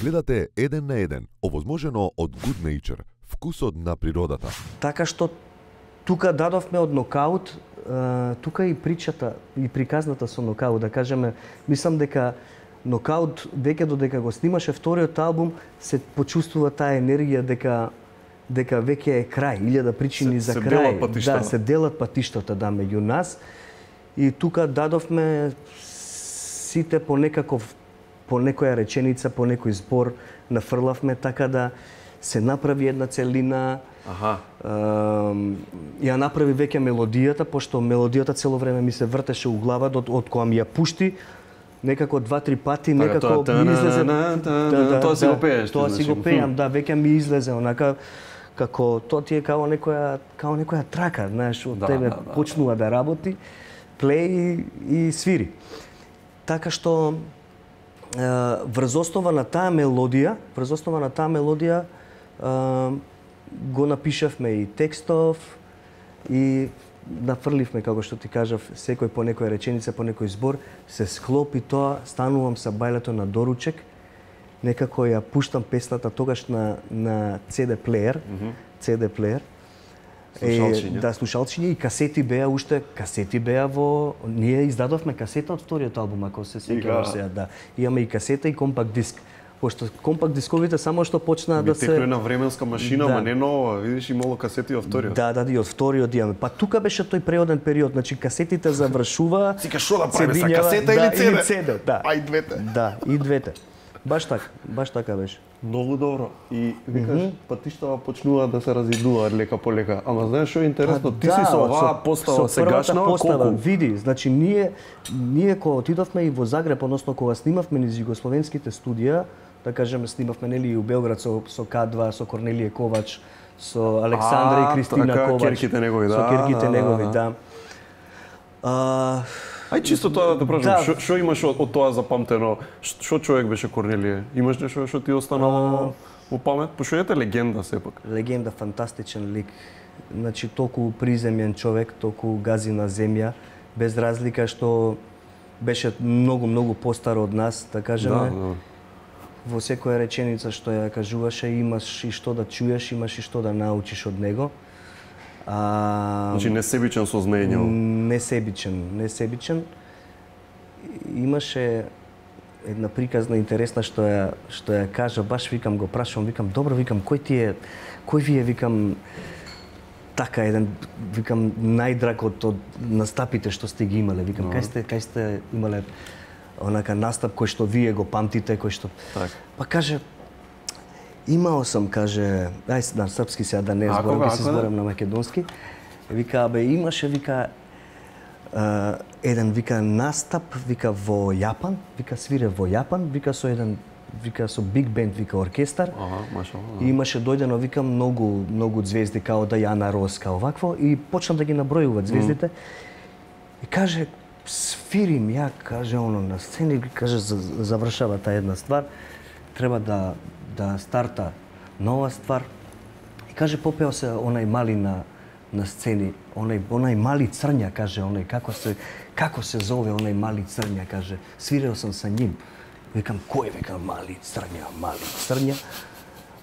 Гледате еден на еден, овозможено од Good Nature, вкусот на природата. Така што тука дадовме од нокаут, тука и причата и приказната со нокаут, да кажеме, мислам дека нокаут веќе додека го снимаше вториот албум се почувствува таа енергија дека веќе е крај, 1000 причини за крај. Да, се делат патиштата меѓу нас. И тука дадовме сите по некоја реченица, по некој збор нафрлавме така да се направи една целина. Ја направи веќе мелодијата, пошто мелодијата цело време ми се вртеше у глава од кога ми ја пушти, некако 2-3 пати, некако ми излезе. Тоа си го пееш. Тоа си го пеам, да, веќе ми излезе онака како тоа ти е као некоја трака, знаеш, од тебе почнува да работи, плей и свири. Така што врз основа на таа мелодија, го напишавме и текстов и нафрливме, како што ти кажав, секој по некоја реченица, по некој збор, се склопи тоа, станувам са бајлето на доручек, некако ја пуштам песната тогаш на CD плеер, слушалчиња. Да, слушалчиња и касети беа во ние издадовме касета од вториот албум, ако се сеќаваш сега, да. Имаме и касета и компакт диск. Пошто компакт дисковите само што почнаа да се текне на временска машина, ама не нова, видиш имало касети од вториот. Да, и од вториот имаме. Па тука беше тој преоден период, значи касетите завршува. Сика што да правиме са касета или CD? Да. А и двете. Да, и двете. Баш така беше. Многу добро. И викаш, патиштава почнуваат да се разидуваат лека по лека. Ама знаеш што е интересно, ти си со оваа постава сегашна колку? Види, значи ние кога отидовме и во Загреб, односно кога снимавме низ југословенските студија, да кажеме снимавме нели и у Белград со К2, со Корнелије Ковач, со Александра и Кристина Ковач, керките негови, со керките негови, да. Ај чисто тоа да прашам, што имаш од тоа запамтено? Што човек беше Корнелије? Имаш нешто што ти останало во памет? Пошто ете легенда сепак. Легенда, фантастичен лик. Значи толку приземен човек, толку гази на земја, без разлика што беше многу постар од нас, да кажеме. Да. Во секоја реченица што ја кажуваше, имаш и што да чуеш, имаш и што да научиш од него. Значи несебичен со знаење. Несебичен. Имаше една приказна интересна што ја кажа, баш викам го прашувам, викам добро, викам кој ви е, викам така еден, викам најдраг од настапите што сте ги имале, викам кај сте имале онака настап кој што вие го памтите, кој што па каже имао сам, каже, ај на српски сега да не зборам, ќе се зборам на македонски. Вика, имаше, вика, еден, вика, настап, вика, во Јапан, вика, свире во Јапан, вика, со еден, вика, со биг бенд, вика, оркестар. И имаше дојдено, вика, многу звезди, као Дајана Рос, као вакво, и почна да ги набројуваат звездите. И каже, свирим ја, каже, на сцени, каже, завршава таа една ствар, треба да старта нова ствар. И каже, попео се онај мали на сцени, онај мали црња, каже, како се зове онај мали црња, каже, свирел сам со ним. Викам, кој, викам, мали црња?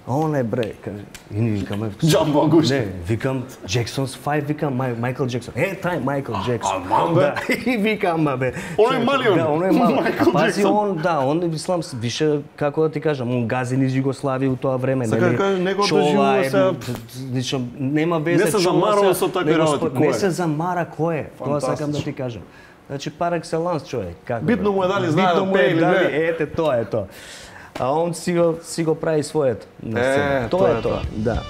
А онај бре, каже, и ни викаме... Джамбо Агушти. Не, викам, Jackson's 5, викам, Майкл Джексон. Тај Майкл Джексон. Да, и викам, бе. Оној малиот. Да, оној малиот. Пази, он ислам, више, како да ти кажам, он гази низ Југославија у тоа време. Сака да кажеш, него доживува се... Нема везе, не се замарува со такви работи. Не се замара кој е. Тоа сакам да ти кажам. Значи, пар екселанс човек. Битно му е дали знае да пее или не. Ете, тоа е тоа. А он си го прави своето. Тоа е тоа. Да.